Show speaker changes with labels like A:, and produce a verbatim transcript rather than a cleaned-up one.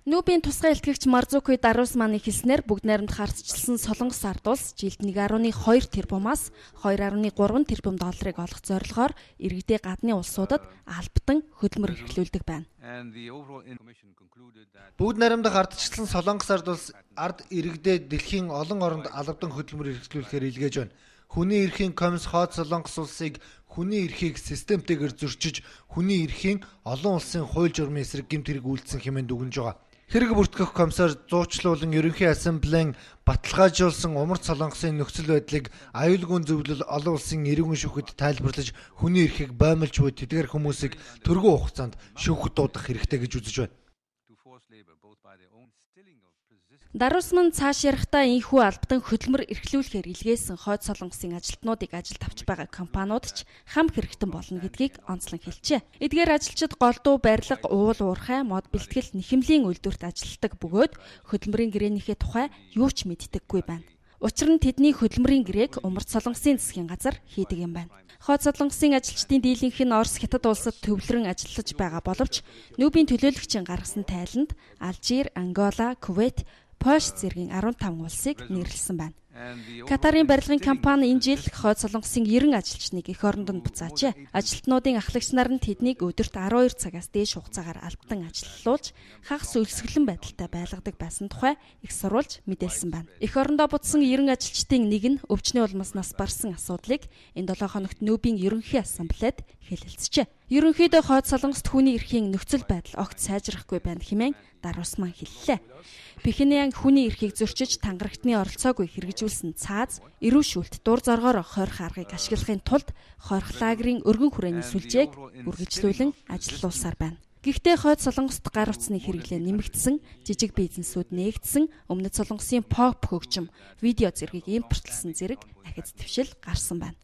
A: Нүүбийн тусгай илтгэгч Марзукуи Дарусманы хэлснээр бүгд найрамдах ардчилсан Солонгос ард улс жилд нэг гаруй хоёр тэрбумаас хоёр гаруй гурван тэрбум долларыг олох зорилгоор иргэдээ гадны улсуудад албатан хөдөлмөр эрхлүүлдэг байна.
B: Бүгд найрамдах ардчилсан Солонгос ард улс ард иргэдээ дэлхийн олон оронд албатан хөдөлмөр эрхлүүлэхээр илгээж байна. Хүний эрхийн комисс хойд Солонгос улсыг хүний эрхийг системтэйгээр зөрчиж, хүний эрхийн олон улсын хууль журмын эсрэг гэмт хэрэг үйлдсэн хэмээн дүгнэж байгаа. Хэрэг бүртгэх комиссар зуучлуулан ерөнхий ассамблеийн баталгаажуулсан умард Солонгосын нөхцөл байдлыг аюулгүй зөвлөл олон улсын иргэн шүүхэд тайлбарлаж, хүний эрхийг боомлж буй тэдгээр хүмүүсийг төргөө хугацаанд шүүхэд дуудах хэрэгтэй гэж үзэж байна.
A: Дарусман цааш ярихдаа ийхүү албатан хөдөлмөр эрхлүүлэхээр илгээсэн хойд Солонгосын ажилтнуудыг ажилд авч байгаа компаниуд ч хам хэрэгтэн болно гэдгийг онцлон хэлжээ. Эдгээр ажилчид голдуу барилга, уул уурхай, мод бэлтгэл, нэхэмлийн үйлдвэрт ажилладаг бөгөөд хөдөлмөрийн гэрээнийхээ тухай юу ч мэддэггүй байна. Учир нь тэдний хөдөлмөрийн гэрээг умард Солонгосын засгийн газар хийдэг юм байна. Хойд Солонгосын ажилчдын дийлэнх нь Орос, Хятад улсад төвлөрөн ажиллаж байгаа боловч Нүүбийн төлөөлөгчийн гаргасан тайланд Алжир, Ангола, Кувейт, Польш зэргийн арван таван улсыг нэрлсэн байна. Катарын барилгын компани энэ жил хойд Солонгосын ерөн ажилчныг эх орондод буцаажээ. Ажилтнуудын ахлагч нар нь тэднийг өдөрт арван хоёр цагаас дээш хугацаагаар албатан ажиллуулж, хагас өлсгөлэн байдалтай байлгадаг байсан тухай их сурвалж мэдээлсэн байна. Эх орондоо буцсан ерөн ажилчдын нэг нь өвчнөө улмаас нас барсан асуудлыг энэ долоо хоногт Нүүбийн ерөнхий ассамблеад хэлэлцжээ. Ерөнхийдөө хойд Солонгост хүний эрхийн нөхцөл байдал огт сайжрахгүй байна хэмээн Дарусман хэллээ. Пхеньян хүний эрхийг зөрчиж тангарагтны оролцоогүй хэрэгжүүлсэн цааз, эрүү шүүлт дур зоргоор хойрох аргыг ашиглахын тулд хойрох лагерийн өргөн хүрээний сүлжээг үргэлжлүүлэн ажиллуулсаар байна. Гэхдээ хойд Солонгост гар утасны хэрэглээ нэмэгдсэн, жижиг бизнесүүд нээгдсэн, өмнөд Солонгосын поп хөгжим, видео зэргийг импортлсон зэрэг ахиц твшил гарсан байна.